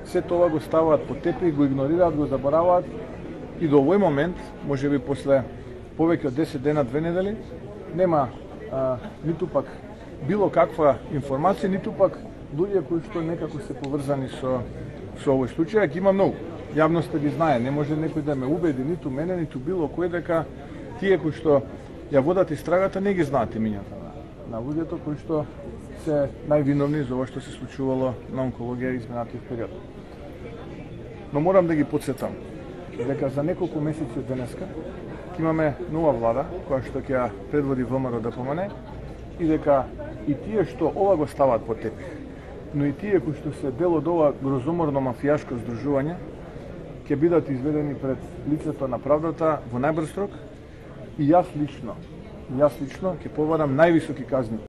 се тоа го ставаат по тепих, го игнорираат, го забораваат и до овој момент, можеби после повеќе од 10 дена, 2 недели, нема ниту пак било каква информација, ниту пак луѓе кои што некако се поврзани со овој случај. Ги има многу. Јавноста ги знае, не може некој да ме убеди, ниту мене, ниту било кој, дека тие кои што ја водат истрагата не ги знаат имињата на луѓето кои што се највиновни за ова што се случувало на онкологија изминатиот период. Но морам да ги потсетам дека за неколку месеци од денеска ќе имаме нова влада која што ќе ја предводи ВМРО ДПМН и дека и тие што ова го ставаат по тепих, но и тие кои што се дел од ова грозоморно мафијашко здружување ќе бидат изведени пред лицето на правдата во најбрз рок и јас лично ќе побарам највисоки казни